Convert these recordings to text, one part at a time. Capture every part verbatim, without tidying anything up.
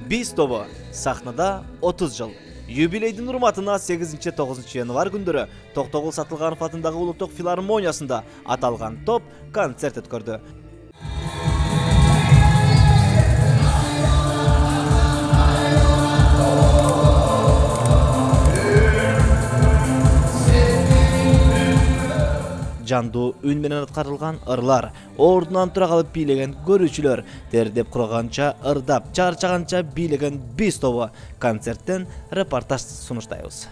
Биз тобу сахнада отуз жыл. Юбилейдин урматына сегизинчи тогузунчу январь күндөрү Токтогул Сатылганов атындагы Улуттук филармониясында аталган топ концерт өткөрдү. Жандуу үн менен аткарылган ырлар, ордунан тура калып бийлеген көрүүчүлөр, тердеп курганча ырдап, чарчаганча бийлеген биз тобу концерттен репортаж сунуштайбыз.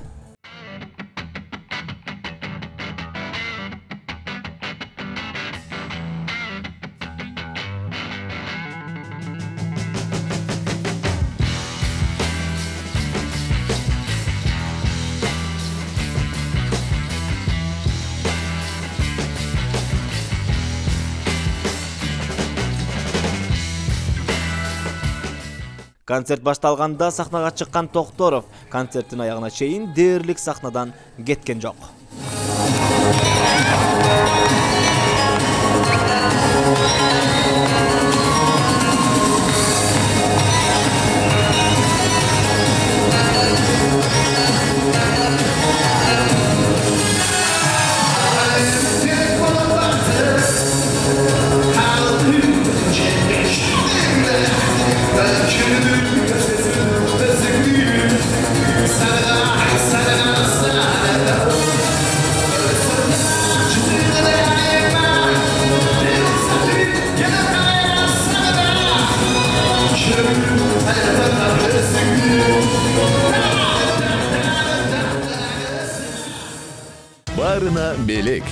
Концерт башталганда сахнага чыккан Токторов концерттин аягына чейин дээрлик сахнадан кеткен жок. Барына белек.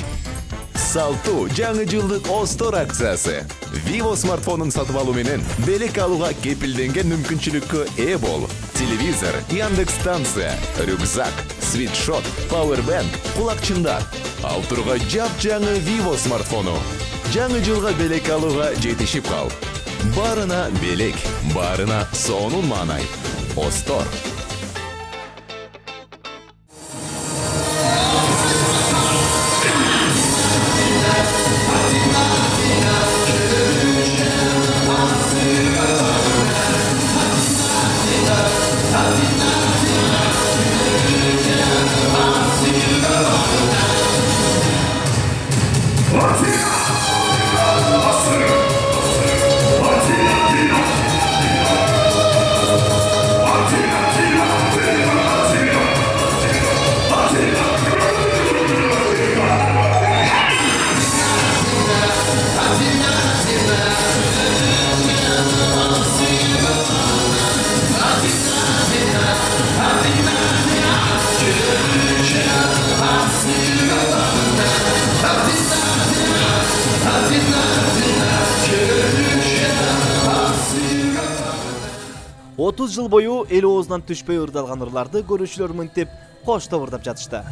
Салтуу жаңы жылдык Остор акциясы. Vivo смартфонун сатып алуу менен белек алууга кепилденген мүмкүнчүлүккө ээ бол. Телевизор, Яндекс станция, рюкзак, свитшот, пауэрбанк, кулакчындар. Ал турга жап-жаңы Vivo смартфону. Жаңы жылга белек алууга жетишип кал. Барына белек, барына сонун маанай. Остор. отуз жыл бою эл оозунан түшпөй ырдалган ырларды көрүүчүлөр мынтип коштоп ырдап жатышты.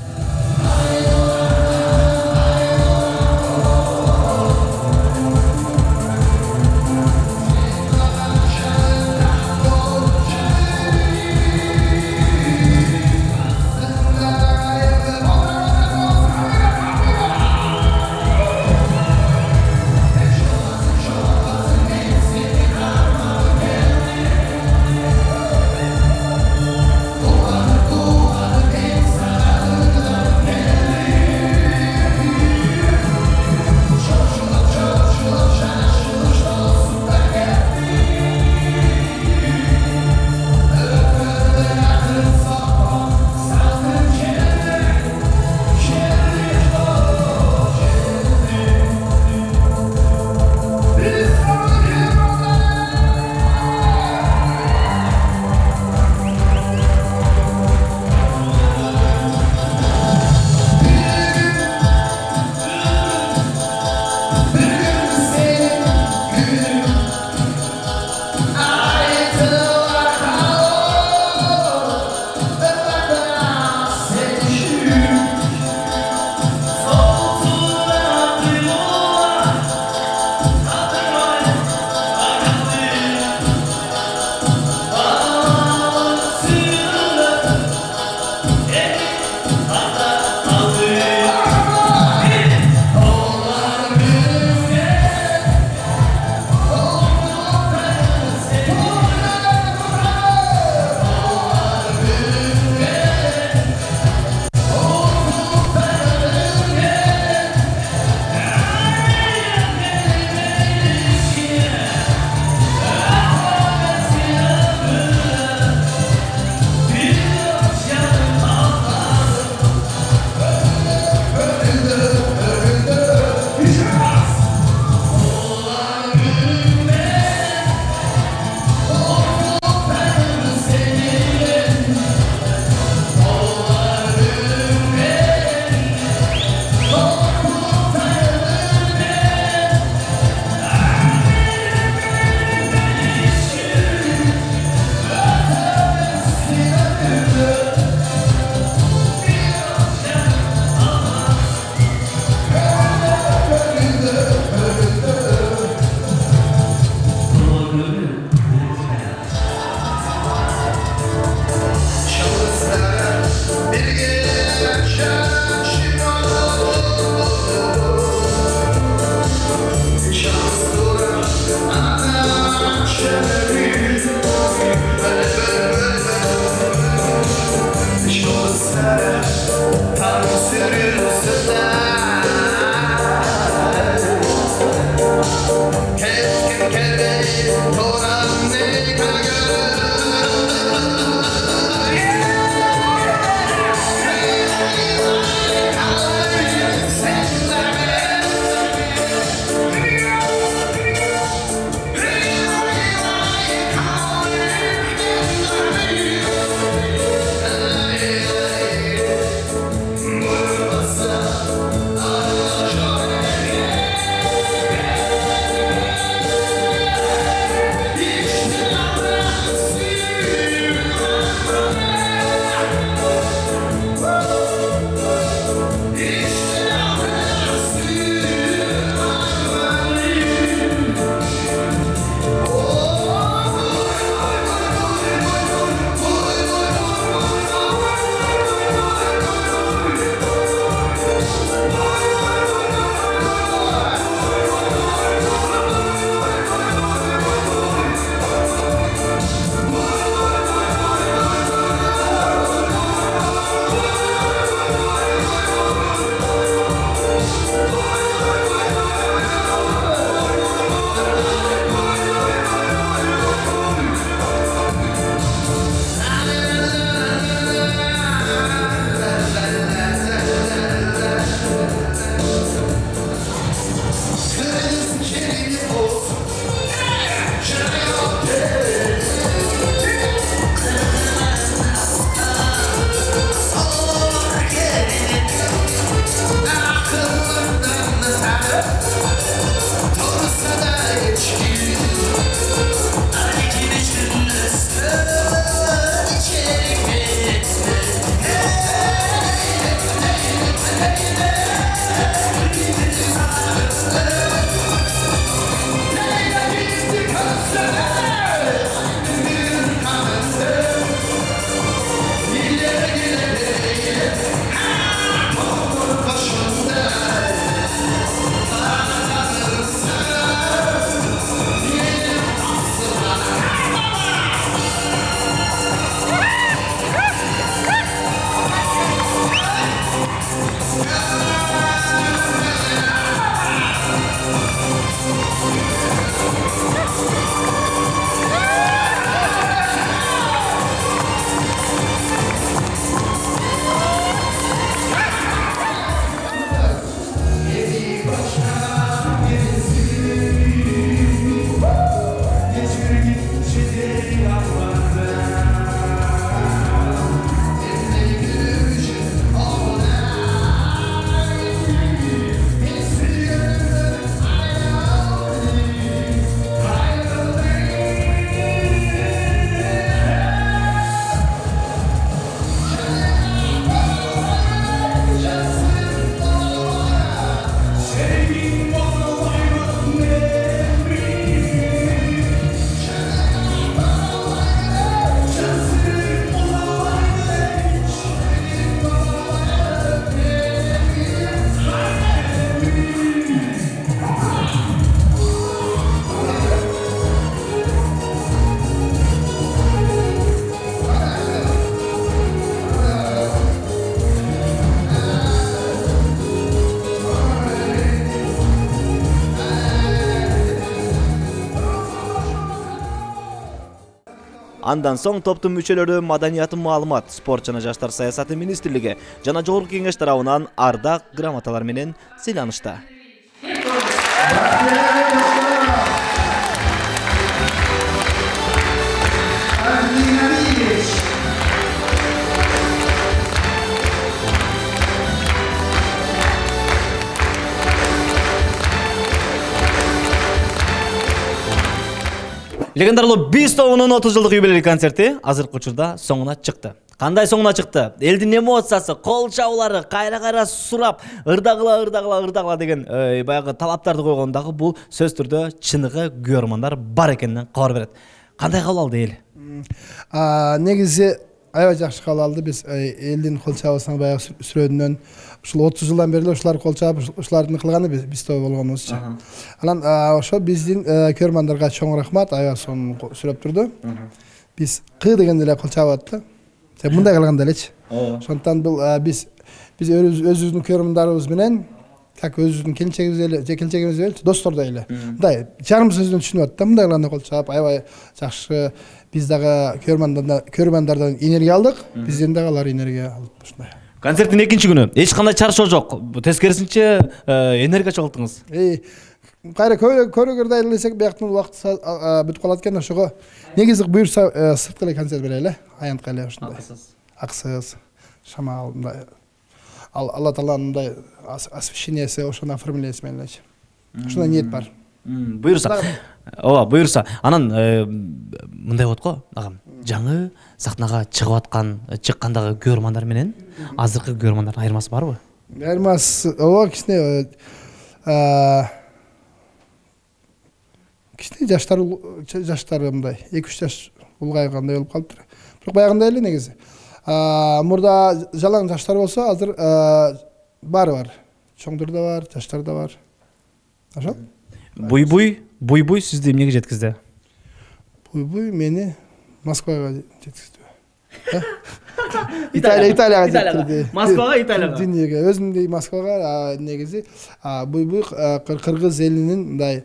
Андан соң топтун мүчөлөрү Маданият, маалымат, спорт жана жаштар саясаты министрлиги жана жогорку кеңеш тарабынан ардак грамоталар менен сыйланышты. Легендарлуу биз тобунун отуз жылдык юбилей концерти азыркы учурда соңуна чыкты. Кандай соңуна чыкты? Элдин эмоциясы, кол чабуулары, кайра-кайра сурап, ырдагыла, ырдагыла, ырдагыла деген баягы талаптарды койгон дагы бул сөз түрдө чыныгы көрөрмандар бар экенинен кабар берет. Кандай кабыл алды эл? Негизи аябай жакшы кабыл алды. Биз элдин кол чабуусунан баягы сүрөдүнөн ушул отуз жылдан бери ушулар кол чабып, ушулардын кылганы биз тобу болгонубузчу. Анан ошо биздин көрөрмандарга чоң рахмат, аябай сонун сүрөп турду. Биз кы дегенде эле кол чабып атты. Мындай кылганда элечи. Ошондон бул биз биз өзүбүздүн көрөрмандарыбыз менен как өзүбүздүн келинчегибиз эле, же келинчегибиз эле, достордой эле. Мындай жарым сөздөн түшүнүп атты. Мындай кылганда кол чабып, аябай жакшы. Биз дагы көрөрмандардан көрөрмандардан энергия алдык. Бизден дагы алар энергия алып ушундай. Концерттин экинчи күнү эч кандай чарчоо жок. Тескерисинче энергия чогулттуңуз. Эй, кайра көрөгөрдөй элесек бияктын убакыт бүтүп калат экен, ошого негизи буюрса сыртка эле концерт берели, аянтка эле ушундай. Аксыз, шамал мындай. Алла Тааланын мындай освещениясы, ошону оформлениеси менен элечи. Ушундай ниет бар. Буюрса. Ооба, буюрса. Анан мындай болот го, агам. Жаңы сахнага чыгып аткан, чыккандагы көрөрмандар менен азыркы көрөрмандардын айырмасы барбы? Айырмасы, ооба, кичине кичине жаштар жаштар мындай эки үч жаш улгайгандай болуп калыптыр. Бирок баягындай эле негизи. Мурда жалаң жаштар болсо, азыр баары бар. Чоңдор да бар, жаштар да бар. Ошо? Буй-буй, буй-буй сизди эмнеге жеткизди? Буй-буй мени Москвага жеткизди. Италия, Италияга жеткизди. Москвага, Италияга. Дүйнөгө, өзүмдү Москвага негизи буй-буй кыргыз элинин мындай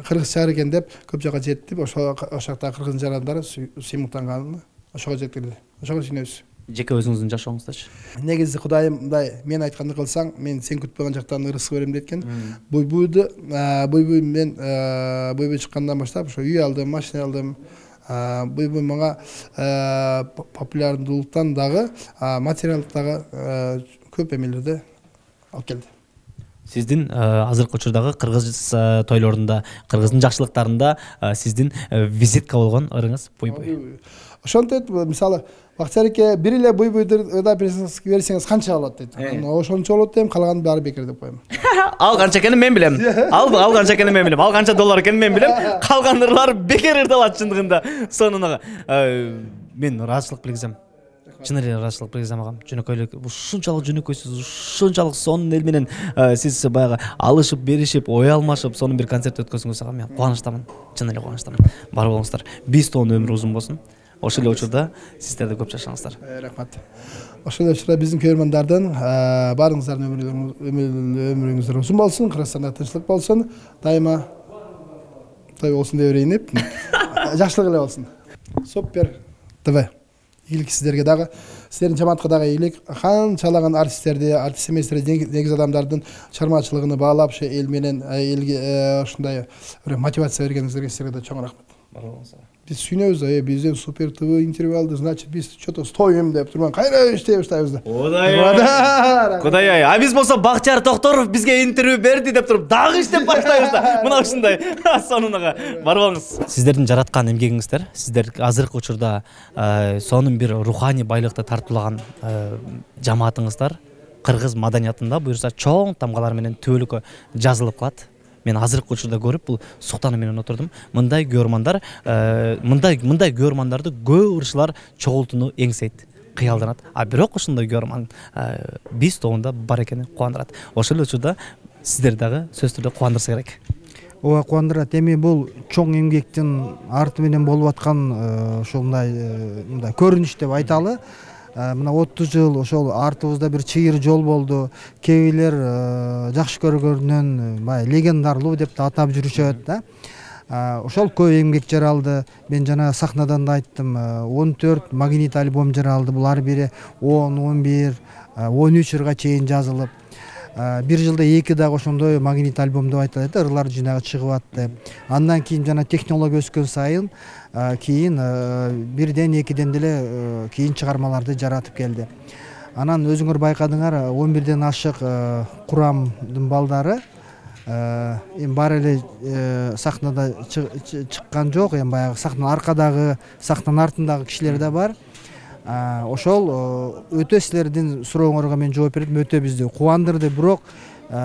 кыргыз шаар экен деп көп жака жетти. Ошо ошакта кыргыз жарандары сыймыктанган. Ошого жеткирди. Ошого сүйүнөбүз. Жеке өзүңүздүн жашооңуздачы? Негизи Кудайым мындай, мен айтканды кылсаң, мен сен күтпөгөн жактан ырысып берем деткен. Буй-буйду, буй-буй мен буй-буй чыккандан баштап ошо үй алдым, машина алдым. Буй-буй мага популярдуулуктан дагы, материалдык дагы көп эмелерди алып келди. Сиздин азыркы учурдагы кыргыз тойлорунда, кыргыздын жакшылыктарында сиздин визитка болгон ырыңыз буй-буй. Ошонтип, мисалы, Бактияр бир эле буй-буйду ырдап берсеңиз канча болот дейт. Ошончо болот дейм, калганы баары бекер деп коем. Ал канча экенин мен билем. Ал ал канча экенин мен билем. Ал канча доллар экенин мен билем. Калган ырлар бекер ырдалат чындыгында. Сонуна мен ыраазычылык билгизем. Чын эле ыраазычылык билгизем агам. Жөнөкөйлүк, ушунчалык жөнөкөйсүз, ушунчалык сонун эл менен сиз баягы алышып, беришип, ой алмашып, сонун бир концерт өткөзүңүз агам. Мен кубанычтамын. Чын эле кубанычтамын. Бар болуңуздар. биз тобунун өмүрү узун болсун. Ошол эле учурда сиздер да көп жашаңыздар. Рахмат. Ошол эле учурда биздин көрөрмандардын баарыңыздардын өмүрүңүздөр узун болсун, Кыргызстанда тынчтык болсун, дайыма той болсун деп өрейинип, жакшылык эле болсун. Супер ТВ. Ийгилик сиздерге дагы, сиздердин жамаатка дагы ийгилик. Канчалаган артисттерди, артист эместерди, негиз адамдардын чыгармачылыгын баалап, ошо эл менен элге ушундай бир мотивация бергениңиздерге сиздерге да чоң рахмат. Бар болуңуздар. Биз сүйүнөбүз, бизден Супер ТВ интервью алды, значит биз что-то стоим деп турган. Кайра иштей баштайбыз да. Кудай. Кудай, а биз болсо Бактияр Токторов бизге интервью берди деп туруп дагы иштеп баштайбыз да. Мына ушундай сонунага бар болуңуз. Сиздердин жараткан эмгегиңиздер, сиздер азыркы учурда сонун бир руханий байлыкты тартуулаган жамаатыңыздар кыргыз маданиятында буюрса чоң тамгалар менен түбөлүккө жазылып калат. Мен азыркы учурда көрүп, бул суктаны менен отурдум. Мындай көрөрмандар, мындай мындай көрөрмандарды көп ырчылар чогултууну эңсейт, кыялданат. А бирок ушундай көрөрман биз тобунда бар экени кубандырат. Ошол учурда сиздер дагы сөзсүз түрдө кубандырса керек. Ооба, кубандырат. Эми бул чоң эмгектин арты менен болуп аткан ушундай мындай көрүнүш деп айталы. Мына отуз жыл ошол артыбызда бир чыйыр жол болду. Кээ бирлер жакшы көргөнүнөн бай легендарлуу деп да атап жүрүшөт да. Ошол көп эмгек жаралды. Мен жана сахнадан да айттым, он төрт магнит альбом жаралды. Булар бири он, он бир, он үч ырга чейин жазылып. Бир жылда эки дагы ошондой магнит альбом деп айтылат, ырлар жинагы чыгып атты. Андан кийин жана технология өскөн сайын кийин бирден экиден деле кийин чыгармаларды жаратып келди. Анан өзүңөр байкадыңар, он бирден ашык курамдын балдары эми баары эле сахнада чыккан жок, эми баягы сахнанын аркадагы, сахнанын артындагы кишилер да бар. Ошол өтө силердин сурооңорго мен жооп бердим, өтө бизди кубандырды. Бирок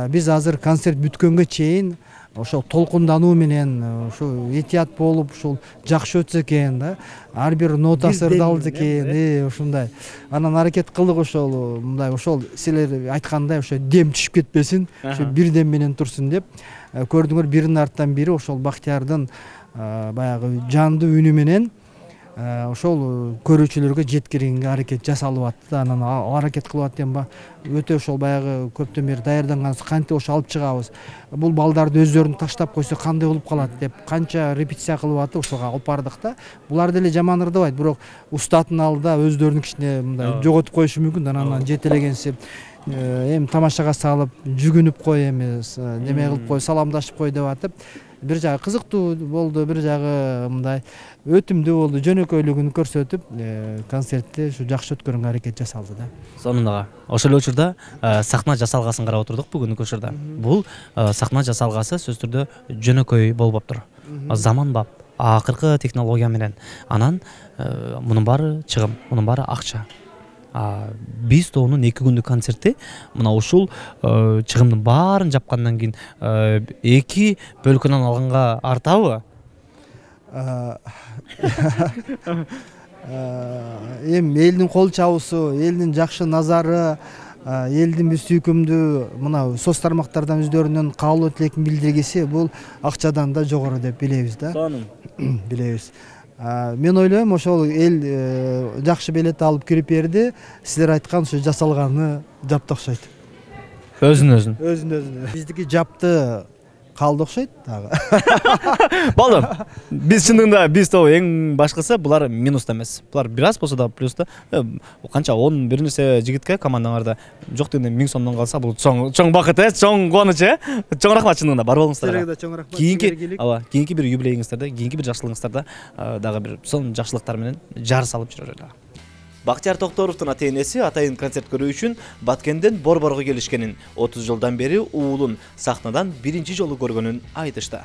биз азыр концерт бүткөнгө чейин ошол толкундануу менен ошо этият болуп, ошол жакшы өтсө экен да. Ар бир нотасы ырдалды экен, э ушундай. Анан аракет кылдык ошол мындай, ошол силер айткандай ошо дем түшүп кетпесин, ошо бир дем менен турсун деп. Көрдүңөр, биринин артынан бири ошол Бактиярдын баягы жандуу үнү менен ошол көрүүчүлөргө жеткиргенге аракет жасалып атты. Анан ал аракет кылып атты эми өтө ошол баягы көптөн бери даярданган, кантип ошо алып чыгабыз, бул балдарды өздөрүн таштап койсо кандай болуп калат деп канча репетиция кылып атып ошого алып бардык да. Булар деле жаман ырдабайт, бирок устаттын алдында өздөрүнүн кичине мындай жоготуп коюшу мүмкүн да. Анан жетелегенси эми тамашага салып, жүгүнүп кой, эми неме кылып кой, саламдашып кой деп атып, бир жагы кызыктуу болду, бир жагы мындай өтүмдүү болду. Жөнөкөйлүгүн көрсөтүп, концертти ушу жакшы өткөргөнгө аракет жасалды да. Сонундагы ошол учурда сахна жасалгасын карап отурдук бүгүнкү учурда. Бул сахна жасалгасы сөзсүз түрдө жөнөкөй болуп аптыр. Заманбап, акыркы технология менен. Анан мунун баары чыгым, мунун баары акча. Биз тобунун эки күндүк концерти мына ушул чыгымдын баарын жапкандан кийин эки бөлкөнөн алганга артабы? Эми элдин кол чабуусу, элдин жакшы назары, элдин биз сүйкүмдүү мына соц тармактардан өздөрүнүн каалоо тилекин билдиргиси бул акчадан да жогору деп билебиз да. Сонун. Билебиз. Мен ойлойм, ошол эл жакшы билет алып кирип берди. Силер айткан ушу жасалганы жапты окшойт. Өзүн өзүн. Өзүн өзүн. Биздики жапты калды окшойт дагы. Болду. Биз чындыгында биз тобу эң башкысы булар минуста эмес. Булар бир аз болсо да плюста. Канча он бир нерсе жигитке командаңарда жок дегенде миң сомдон калса бул чоң чоң бакыт э, чоң кубаныч э. Чоң рахмат чындыгында, бар болуңуздар. Силерге да чоң рахмат. Кийинки, ооба, кийинки бир юбилейиңиздерде, кийинки бир жакшылыгыңыздарда дагы бир сонун жакшылыктар менен жар салып жүрөлү. Бактияр Токторовдун ата-энеси атайын концерт көрүү үчүн Баткенден Борборго келишкенин, отуз жылдан бери уулун сахнадан биринчи жолу көргөнүн айтышты.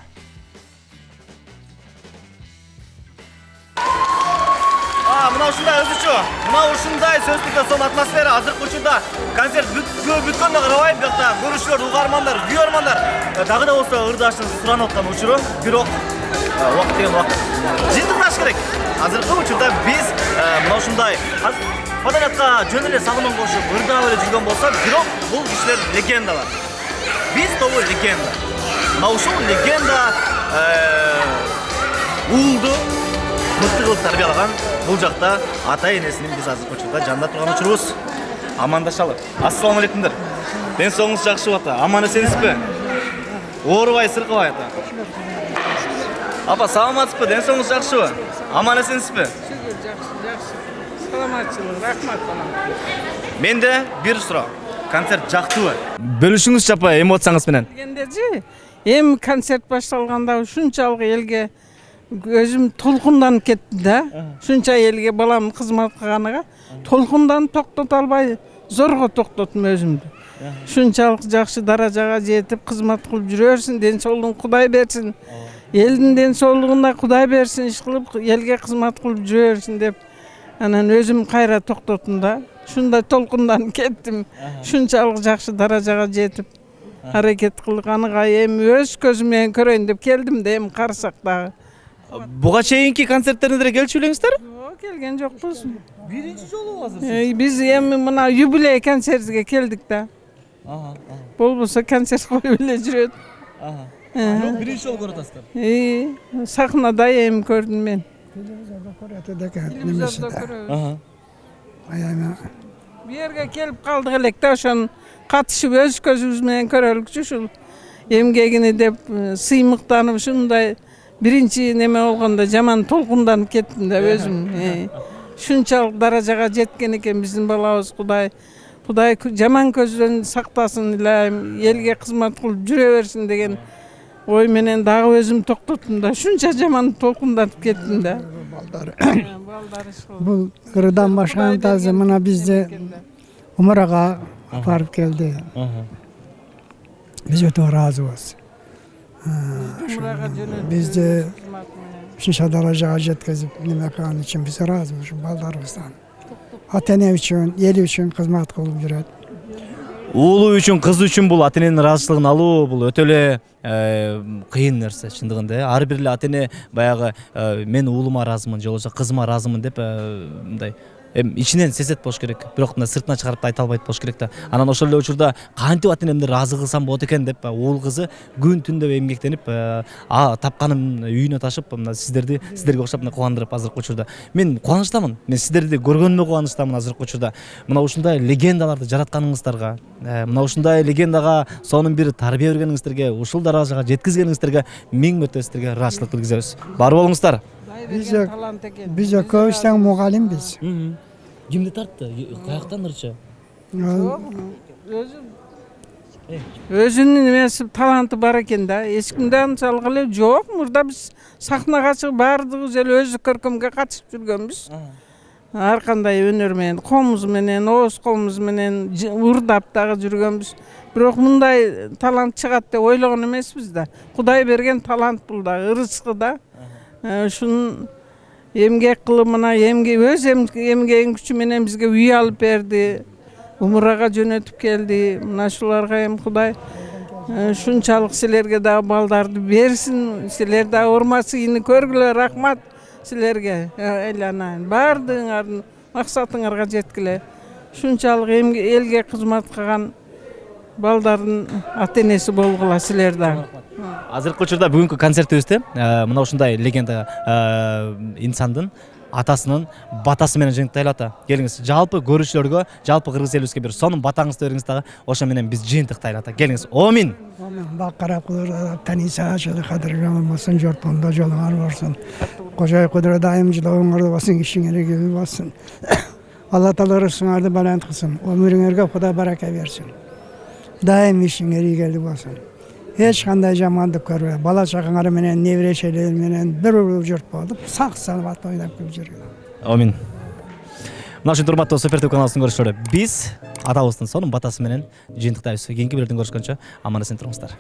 Мына ушундай өзүчө, мына ушундай сөздүк сонун атмосфера азыркы учурда концерт бүткөндө карабайм, бияқта көрүүчүлөр, угармандар, күйөрмандар дагы да болсо ырдашын суранып аткан учуру, бирок убакыт деген убакыт жыйынтыкташ керек. Азыркы учурда биз мына ушундай подорядка жөн эле салымын кошуп ырдап эле жүргөн болсо, бирок бул кишилер легендалар. Биз тобу легенда. Мына ушул легенда уулду мыкты кылып тарбиялаган бул жакта ата-энесинин биз азыркы учурда жанында турган учурубуз. Амандашалы. Ассаламу алейкумдар. Ден соңуңуз жакшы ата? Аман эсенсизби? Оорубай, сыркабай ата? Апа, саламатсызбы? Ден соңуңуз жакшыбы? Аман эсенсизби? Шүгүр, жакшы, жакшы. Саламатчылык, рахмат балам. Менде бир суроо. Концерт жактыбы? Бөлүшүңүзчү апа эмоцияңыз менен. Дегендежи, эми концерт башталганда ушунчалык элге өзүм толкунданып кеттим да. Ушунча элге балам кызмат кылганыга толкунданып токтото албай зорго токтоттум өзүмдү. Ушунчалык жакшы даражага жетип кызмат кылып жүрөрсүң, ден соолугун Кудай берсин. Элдин ден соолугуна Кудай берсин, иш кылып элге кызмат кылып жүрөрсүн деп анан өзүм кайра токтоттум да. Ушундай толкунданып кеттим. Ушунчалык жакшы даражага жетип аракет кылганыга эми өз көзүм менен көрөйүн деп келдим да, эми карасак дагы. Буга чейинки концерттериңерге келчү белеңиздер? Жок, келген жокпуз. Биринчи жолу азыр. Биз эми мына юбилей концертиге келдик да. Ага. Болбосо концерт коюп эле жүрөт. Ага. Жок, биринчи жолу көрүп атасыздар. И, сахнада эми көрдүм мен. Телевизордо көрөт экен. Телевизордо көрөбүз. Ага. Аябай. Бу жерге келип калдык элек да, ошон катышып өз көзүбүз менен көрөлүкчү ушул эмгегини деп сыймыктанып ушундай биринчи неме болгондо жаман толкунданып кеттим да өзүм. Шунчалык даражага жеткен экен биздин балабыз. Кудай Кудай жаман көздөн сактасын эле, элге кызмат кылып жүрө берсин деген ой менен дагы өзүм токтоттум да. Шунча жаман толкунданып кеттим да. Бул кырдан башка тазы мына бизде умарага барып келди. Биз өтө ыраазыбыз. Бизди ушунча даражага жеткизип неме кылган үчүн биз ыраазыбыз ушу балдарыбыздан. Ата эне үчүн, эл үчүн кызмат кылып жүрөт. Уулу үчүн, кыз үчүн бул ата эненин ыраазычылыгын алуу бул өтө эле кыйын нерсе чындыгында. Ар бир эле ата эне баягы мен уулума ыраазымын же болбосо кызыма ыраазымын деп мындай эми ичинен сезет болуш керек. Бирок мына сыртына чыгарып да айта албайт болуш керек да. Анан ошол эле учурда кантип ата энемди ыраазы кылсам болот экен деп уул кызы күн түн деп эмгектенип, а тапканын үйүнө ташып, мына сиздерди сиздерге окшоп мына кубандырып азыркы учурда. Мен кубанычтамын. Мен сиздерди көргөнүмө кубанычтамын азыркы учурда. Мына ушундай легендаларды жаратканыңыздарга, мына ушундай легендага сонун бир тарбия бергениңиздерге, ушул даражага жеткизгениңиздерге миң мөртө сиздерге ыраазычылык билгизебиз. Бар болуңуздар. Биз биз көбүс тең мугалимбиз. Кимди тартты? Каяктан ырчы? Өзү өзүнүн немеси таланты бар экен да. Эч кимде анчалык эле жок. Мурда биз сахнага чыгып баардыгыбыз эле өзү көркөмгө катышып жүргөнбүз. Ар кандай өнөр менен, комуз менен, ооз комуз менен урдап дагы жүргөнбүз. Бирок мындай талант чыгат деп ойлогон эмеспиз да. Кудай берген талант бул да, ырычкы да. Ушун эмгек кылып мына эмге өз эмгегинин күчү менен бизге үй алып берди. Умурага жөнөтүп келди. Мына шуларга эми Кудай шунчалык силерге дагы балдарды берсин. Силер дагы урматсыйны көргүлө, рахмат силерге. Эланайын баардыгыңардын максатыңарга жеткиле. Шунчалык элге кызмат кылган балдардын ата энеси болгула силер дагы. Азыркы учурда бүгүнкү концертибизде мына ушундай легенда инсандын атасынын батасы менен жыйынтыктайлы ата. Келиңиз, жалпы көрүүчүлөргө, жалпы кыргыз элибизге бир сонун батаңызды бериңиз дагы. Ошо менен биз жыйынтыктайлы ата. Келиңиз. Омин. Бакара кудура таниса жолу кадыр жамалмасын, жортонда жолуңар болсун. Кожой кудура дайым жылооңорду болсун, кишиңерге кебил болсун. Алла таала рызкыңарды балант кылсын. Өмүрүңөргө Кудай барака берсин. Дайым ишиңер ийгиликтүү болсун. Эч кандай жамандык көрбөй, бала чагаңар менен, неберешелер менен бир журт болуп, сак саламат ойнап келип жүргүлөр. Амин. Мына ушундай урматтуу Супертүп каналыбыздын көрүүчүлөрү, биз атабыздын сонун батасы менен жыйынтыктайбыз. Кийинки бирлерден көрүшкөнчө аман эсен туруңуздар.